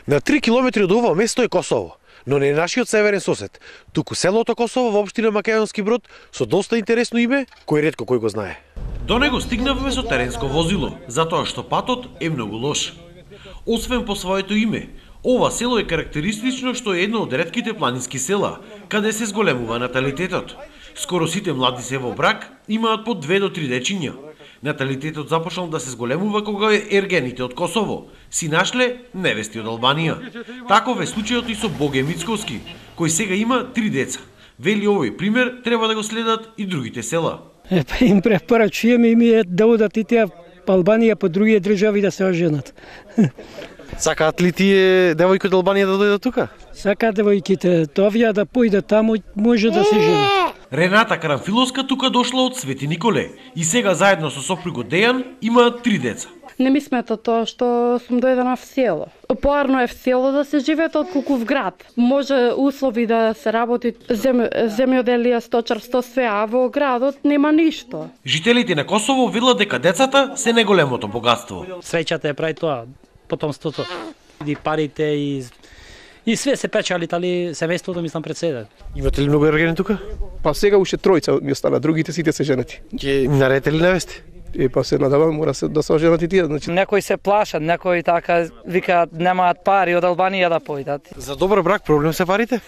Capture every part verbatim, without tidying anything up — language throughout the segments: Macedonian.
На три километри од ова место е Косово, но не е нашиот северен сосед, туку селото Косово во општина Македонски Брод со доста интересно име, кој ретко кој го знае. До него стигнавме со теренско возило, затоа што патот е многу лош. Освен по своето име, ова село е карактеристично што е едно од ретките планински села, каде се зголемува наталитетот. Скоро сите млади се во брак имаат по две до три дечиња. Наталитетот започнал да се зголемува кога ергените од Косово си нашле невести од Албанија. Таков е случајот и со Боге Мицковски, кој сега има три деца. Вели овој пример треба да го следат и другите села. Е, па им препорачуваме им е да одат и тие по Албанија, по други држави да се оженат. Сакаат ли тие девојки од Албанија да дојдат тука? Сакаат девојките, овие да појдат таму, може да се женат. Рената Карамфиловска тука дошла од Свети Николе и сега заедно со сопругот Дејан имаат три деца. Не ми смета тоа што сум дојдена в село. Поарно е в село да се живеат отколку в град. Може услови да се работи зем, земјоделие, сточарство, све, а во градот нема ништо. Жителите на Косово велат дека децата се најголемото богатство. Среќата е прави тоа, потомството. И парите и и све се печали, тали семејството мислам пред себе. Имате ли многу ергени тука? Па сега уште тројца ми остана, другите сите се женати. Ќе им наредите ли невести? Е, па се надавам, мора се, да се оженат и тие. Значи... Некои се плашат, некои така викаат немаат пари од Албанија да појдат. За добар брак проблем се парите?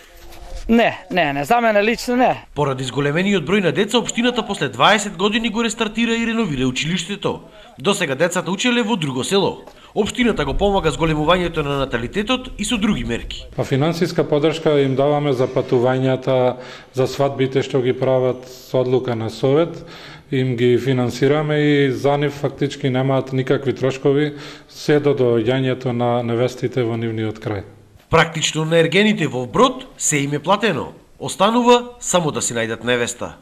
Не, не, не, за мене лично не. Поради зголемениот број на деца, општината после дваесет години го рестартира и реновира училиштето. До сега децата учеле во друго село. Општината го помага зголемувањето на наталитетот и со други мерки. Па финансиска поддршка им даваме за патувањата, за свадбите што ги прават со одлука на совет, им ги финансираме и за нив фактички немаат никакви трошкови се до доаѓањето на невестите во нивниот крај. Практично на ергените во Брод се им е платено. Останува само да си најдат невеста.